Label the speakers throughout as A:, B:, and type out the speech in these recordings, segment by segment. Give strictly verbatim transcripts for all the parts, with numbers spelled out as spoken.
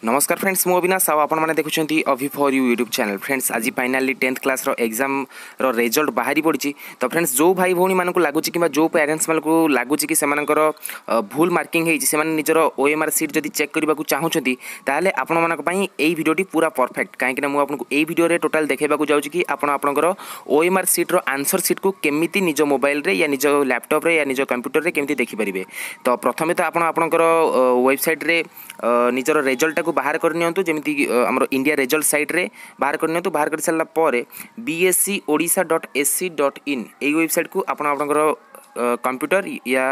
A: ନମସ୍କାର ଫ୍ରେଣ୍ଡସ୍, ମୁଁ ଅବିନାଶ ଆଉ ଆପଣମାନେ ଦେଖୁଛନ୍ତି Abhi for you YouTube channel. Friends, ଆଜି ଫାଇନାଲି ଟେନ୍ଥ କ୍ଲାସ୍ର ଏକ୍ଜାମ୍ର ରେଜଲ୍ଟ ବାହାରି ପଡ଼ିଛି। ତ ଫ୍ରେଣ୍ଡସ୍, ଯେଉଁ ଭାଇ ଭଉଣୀମାନଙ୍କୁ ଲାଗୁଛି କିମ୍ବା ଯେଉଁ ପ୍ୟାରେଣ୍ଟସ୍ମାନଙ୍କୁ ଲାଗୁଛି କି ସେମାନଙ୍କର ଭୁଲ ମାର୍କିଂ ହେଇଛି, ସେମାନେ ନିଜର ଓ ଏମ୍ ଆର୍ ସିଟ୍ ଯଦି ଚେକ୍ କରିବାକୁ ଚାହୁଁଛନ୍ତି, ତାହେଲେ ଆପଣମାନଙ୍କ ପାଇଁ ଏଇ ଭିଡ଼ିଓଟି ପୁରା ପରଫେକ୍ଟ। କାହିଁକିନା ମୁଁ ଆପଣଙ୍କୁ ଏଇ ଭିଡ଼ିଓରେ ଟୋଟାଲ୍ ଦେଖାଇବାକୁ ଯାଉଛି କି ଆପଣ ଆପଣଙ୍କର ଓ ଏମ୍ ଆର୍ ସିଟ୍ର ଆନ୍ସର୍ ସିଟ୍କୁ କେମିତି ନିଜ ମୋବାଇଲରେ ୟା ନିଜ ଲ୍ୟାପଟପ୍ରେ ୟା ନିଜ କମ୍ପ୍ୟୁଟରରେ କେମିତି ଦେଖିପାରିବେ। ତ ପ୍ରଥମେ ତ ଆପଣ ଆପଣଙ୍କର ୱେବସାଇଟ୍ରେ ନିଜର ରେଜଲ୍ଟଟାକୁ ବାହାର କରିନିଅନ୍ତୁ, ଯେମିତି ଆମର ଇଣ୍ଡିଆ ରେଜଲ୍ଟ ସାଇଟ୍ରେ ବାହାର କରିନିଅନ୍ତୁ। ବାହାର କରିସାରିଲା ପରେ B S E Odisha dot A C dot in ଏଇ ୱେବସାଇଟ୍କୁ ଆପଣ ଆପଣଙ୍କର କମ୍ପ୍ୟୁଟର ୟା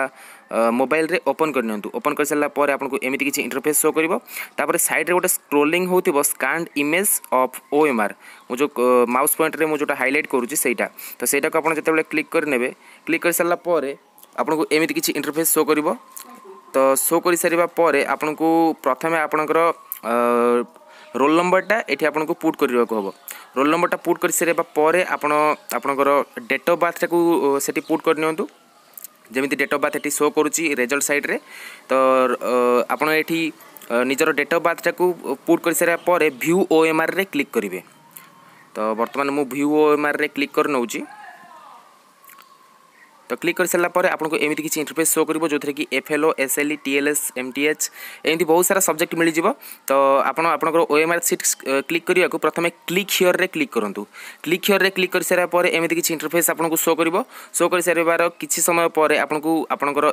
A: ମୋବାଇଲରେ ଓପନ୍ କରିନିଅନ୍ତୁ। ଓପନ୍ କରିସାରିଲା ପରେ ଆପଣଙ୍କୁ ଏମିତି କିଛି ଇଣ୍ଟରଫେସ୍ ଶୋ କରିବ। ତାପରେ ସାଇଡ଼୍ରେ ଗୋଟେ ସ୍କ୍ରୋଲିଂ ହେଉଥିବ, scanned image of O M R, ମୁଁ ଯେଉଁ ମାଉସ୍ ପଏଣ୍ଟରେ ମୁଁ ଯେଉଁଟା ହାଇଲାଇଟ୍ କରୁଛି ସେଇଟା। ତ ସେଇଟାକୁ ଆପଣ ଯେତେବେଳେ କ୍ଲିକ୍ କରିନେବେ, କ୍ଲିକ୍ କରିସାରିଲା ପରେ ଆପଣଙ୍କୁ ଏମିତି କିଛି ଇଣ୍ଟରଫେସ୍ ଶୋ କରିବ। ତ ଶୋ କରିସାରିବା ପରେ ଆପଣଙ୍କୁ ପ୍ରଥମେ ଆପଣଙ୍କର ରୋଲ୍ ନମ୍ବରଟା ଏଠି ଆପଣଙ୍କୁ ପୁଟ୍ କରିବାକୁ ହେବ। ରୋଲ୍ ନମ୍ବରଟା ପୁଟ୍ କରିସାରିବା ପରେ ଆପଣ ଆପଣଙ୍କର ଡେଟ୍ ଅଫ୍ ବାର୍ଥଟାକୁ ସେଠି ପୁଟ୍ କରିନିଅନ୍ତୁ, ଯେମିତି ଡେଟ୍ ଅଫ୍ ବାର୍ଥ ଏଠି ଶୋ କରୁଛି ରେଜଲ୍ଟ ସାଇଡ଼୍ରେ। ତ ଆପଣ ଏଠି ନିଜର ଡେଟ୍ ଅଫ୍ ବାର୍ଥଟାକୁ ପୁଟ୍ କରିସାରିବା ପରେ ଭ୍ୟୁ ଓ ଏମ୍ ଆର୍ରେ କ୍ଲିକ୍ କରିବେ। ତ ବର୍ତ୍ତମାନ ମୁଁ ଭ୍ୟୁ ଓ ଏମ୍ ଆର୍ରେ କ୍ଲିକ୍ କରିନେଉଛି। ତ କ୍ଲିକ୍ କରିସାରିଲା ପରେ ଆପଣଙ୍କୁ ଏମିତି କିଛି ଇଣ୍ଟରଫେସ୍ ଶୋ କରିବ, ଯେଉଁଥିରେ କି F L O, S L E, T L S, M T H ଏମିତି ବହୁତ ସାରା ସବଜେକ୍ଟ ମିଳିଯିବ। ତ ଆପଣ ଆପଣଙ୍କର ଓ ଏମ୍ ଆର୍ ସିଟ୍ କ୍ଲିକ୍ କରିବାକୁ ପ୍ରଥମେ କ୍ଲିକ୍ ହିୟର୍ରେ କ୍ଲିକ୍ କରନ୍ତୁ। କ୍ଲିକ୍ ହିୟର୍ରେ କ୍ଲିକ୍ କରିସାରିବା ପରେ ଏମିତି କିଛି ଇଣ୍ଟରଫେସ୍ ଆପଣଙ୍କୁ ଶୋ କରିବ। ଶୋ କରିସାରିବାର କିଛି ସମୟ ପରେ ଆପଣଙ୍କୁ ଆପଣଙ୍କର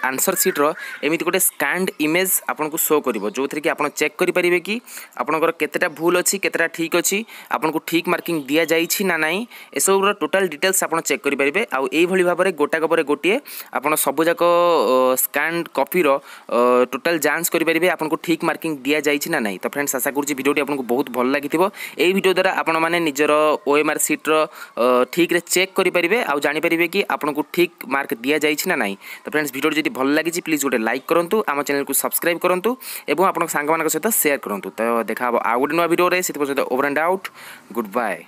A: ଆନ୍ସର୍ ସିଟ୍ର ଏମିତି ଗୋଟେ ସ୍କାନ୍ଡ ଇମେଜ୍ ଆପଣଙ୍କୁ ଶୋ କରିବ, ଯେଉଁଥିରେ କି ଆପଣ ଚେକ୍ କରିପାରିବେ କି ଆପଣଙ୍କର କେତେଟା ଭୁଲ ଅଛି, କେତେଟା ଠିକ୍ ଅଛି, ଆପଣଙ୍କୁ ଠିକ୍ ମାର୍କିଂ ଦିଆଯାଇଛି ନା ନାହିଁ, ଏସବୁର ଟୋଟାଲ୍ ଡିଟେଲ୍ସ ଆପଣ ଚେକ୍ କରିପାରିବେ। ଆଉ ଏଇଭଳି ଭାବରେ ଗୋଟାକ ପରେ ଗୋଟିଏ ଆପଣ ସବୁଯାକ ସ୍କାନ୍ କପିର ଟୋଟାଲ୍ ଯାଞ୍ଚ କରିପାରିବେ, ଆପଣଙ୍କୁ ଠିକ୍ ମାର୍କିଂ ଦିଆଯାଇଛି ନା ନାହିଁ। ତ ଫ୍ରେଣ୍ଡସ୍, ଆଶା କରୁଛି ଭିଡ଼ିଓଟି ଆପଣଙ୍କୁ ବହୁତ ଭଲ ଲାଗିଥିବ। ଏଇ ଭିଡ଼ିଓ ଦ୍ୱାରା ଆପଣମାନେ ନିଜର ଓ ଏମ୍ ଆର୍ ସିଟ୍ର ଠିକ୍ରେ ଚେକ୍ କରିପାରିବେ ଆଉ ଜାଣିପାରିବେ କି ଆପଣଙ୍କୁ ଠିକ୍ ମାର୍କ ଦିଆଯାଇଛି ନା ନାହିଁ। ତ ଫ୍ରେଣ୍ଡସ୍, ଭିଡ଼ିଓଟି ଯଦି ଭଲ ଲାଗିଛି, ପ୍ଲିଜ୍ ଗୋଟେ ଲାଇକ୍ କରନ୍ତୁ, ଆମ ଚ୍ୟାନେଲକୁ ସବସ୍କ୍ରାଇବ୍ କରନ୍ତୁ ଏବଂ ଆପଣଙ୍କ ସାଙ୍ଗମାନଙ୍କ ସହିତ ସେୟାର କରନ୍ତୁ। ତ ଦେଖା ହେବ ଆଉ ଗୋଟେ ନୂଆ ଭିଡ଼ିଓରେ, ସେଥିପର୍ଯ୍ୟନ୍ତ over and out, good bye.